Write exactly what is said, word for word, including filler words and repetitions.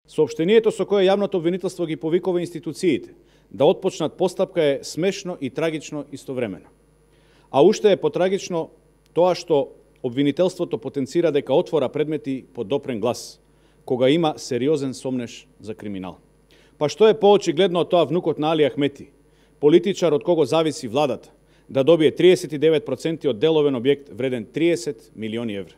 Соопштението со кое јавното обвинителство ги повикува институциите да отпочнат постапка е смешно и трагично истовремено. А уште е потрагично тоа што обвинителството потенцира дека отвора предмети под допрен глас, кога има сериозен сомнеш за криминал. Па што е поочигледно од тоа внукот на Али Ахмети, политичар од кого зависи владата, да добие триесет и девет проценти од деловен објект вреден триесет милиони евра?